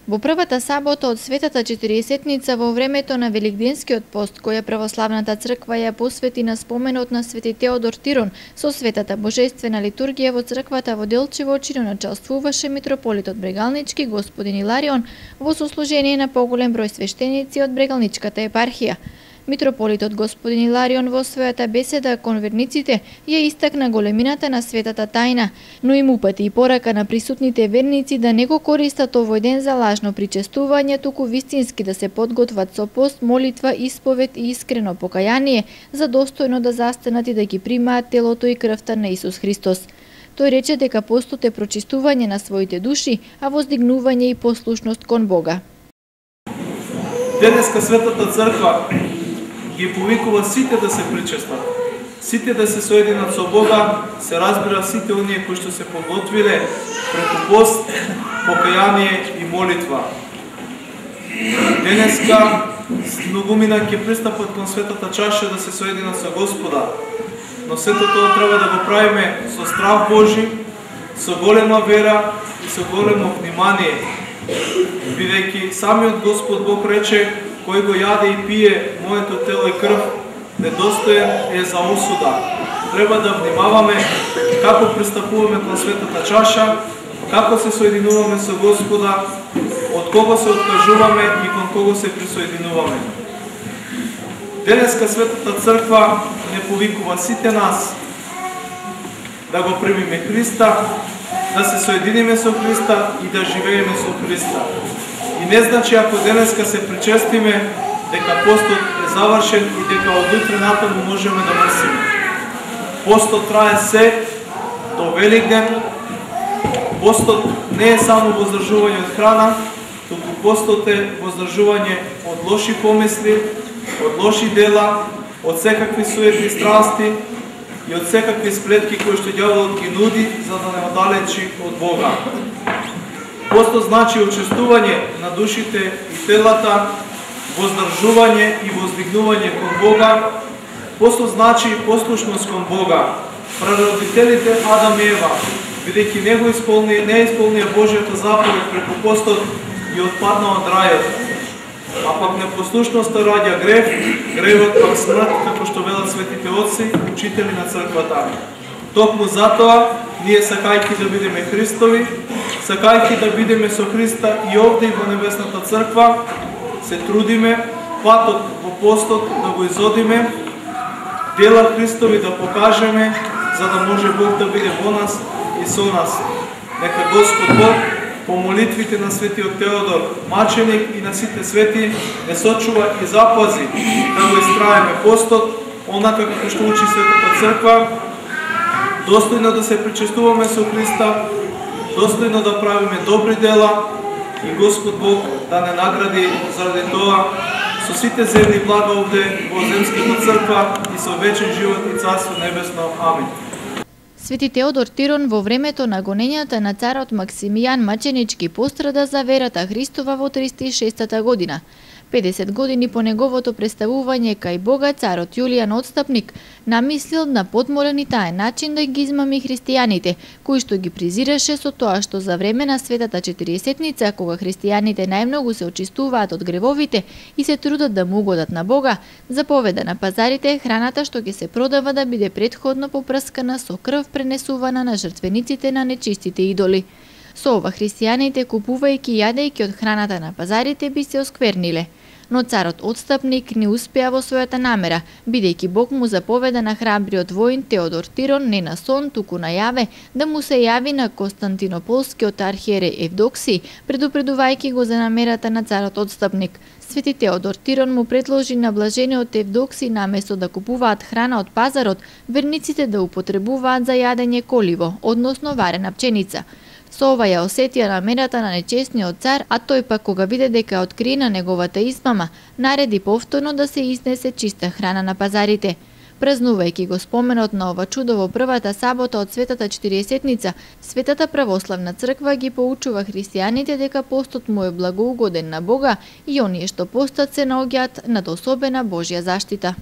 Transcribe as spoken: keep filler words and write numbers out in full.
Во првата сабота од Светата четириесетница во времето на Великденскиот пост, која православната црква ја посвети на споменот на Свети Теодор Тирон, со Светата Божествена литургија во црквата во Делчево чиноначалствуваше митрополитот Брегалнички господин Иларион во сослужение на поголем број свештеници од Брегалничката епархија. Митрополитот господин Иларион во својата беседа кон верниците ја истакна големината на светата тајна, но им упати и порака на присутните верници да не го користат овој ден за лажно причестување, туку вистински да се подготват со пост, молитва, исповед и искрено покаяние, за достојно да застанат и да ги примаат телото и крвта на Исус Христос. Тој рече дека постот е прочистување на своите души, а воздигнување и послушност кон Бога. Денеска Светата Црква ги повикува сите да се причестат, сите да се соединат со Бога, се разбира сите оние кои што се подготвиле преку пост, покаяние и молитва. Денеска многумина ќе пристапат кон светата чаша да се соединат со Господа, но сето тоа треба да го правиме со страх Божи, со голема вера и со големо внимание, бидејќи самиот Господ Бог рече: кој го јаде и пие моето тело и крв, недостоен е за осуда. Треба да внимаваме како пристапуваме кон светата чаша, како се соединуваме со Господа, од кого се откажуваме и кон кого се присоединуваме. Денеска Светата Црква не повикува сите нас да го примиме Христа, да се соединиме со Христа и да живееме со Христа. И не значи ако денеска се причестиме дека постот е завршен и дека од утре натаму можеме да мрсиме. Постот трае се до Великден. Постот не е само воздржување од храна, туку постот е воздржување од лоши помисли, од лоши дела, од секакви суетни страсти и од секакви сплетки кои што ѓаволот ги нуди за да не оддалечи од Бога. Постот значи очистување на душите и телата, воздржување и воздигнување кон Бога. Постот значи послушност кон Бога. Прародителите Адам и Ева, бидејќи не го исполни, не исполнија Божјата заповед преку постот и отпадна од рајот. А пак непослушноста раѓа грев, гревот пак смрт, како што велат светите отци, учители на црквата. Токму затоа, ние сакајќи да бидеме Христови, сакајќи да бидеме со Христа и овде и во Небесната Црква, се трудиме патот во постот да го изодиме, дела Христови да покажеме, за да може Бог да биде во нас и со нас. Нека Господ Бог по молитвите на светиот Теодор, маченик и на сите свети, не сочува и запази да го истраеме постот, онака како што учи Светата Црква, достојно да се причестуваме со Христа, достојно да правиме добри дела и Господ Бог да не награди заради тоа со сите земни блага овде во земската црква и со вечен живот и Царство небесно. Амин. Свети Теодор Тирон во времето на гонењата на царот Максимијан Маченички пострада за верата Христова во триста и шестата година. педесет години по неговото представување кај Бога, царот Јулијан Отстапник намислил на подморен и таен начин да ги измами христијаните, кои што ги презираше со тоа што за време на Светата четириесетница, кога христијаните најмногу се очистуваат од гревовите и се трудат да му угодат на Бога, заповеда на пазарите храната што ќе се продава да биде претходно попрскана со крв пренесувана на жртвениците на нечистите идоли. Со ова христијаните, купувајќи и јадејќи од храната на пазарите, би се оскверниле. Но царот Отстапник не успеа во својата намера, бидејќи Бог му заповеда на храбриот воин Теодор Тирон не на сон, туку на јаве, да му се јави на Константинополскиот архиереј Евдоксиј, предупредувајќи го за намерата на царот Отстапник. Свети Теодор Тирон му предложи на блажениот Евдоксиј наместо да купуваат храна од пазарот, верниците да употребуваат за јадење коливо, односно варена пченица. Со ова ја осетија намерата на нечестниот цар, а тој пак кога виде дека е откриена неговата измама, нареди повторно да се изнесе чиста храна на пазарите. Празнувајќи го споменот на ова чудо во првата сабота од Светата четириесетница, Светата православна црква ги поучува христијаните дека постот му е благоугоден на Бога и оние што постат се наоѓаат над особена Божја заштита.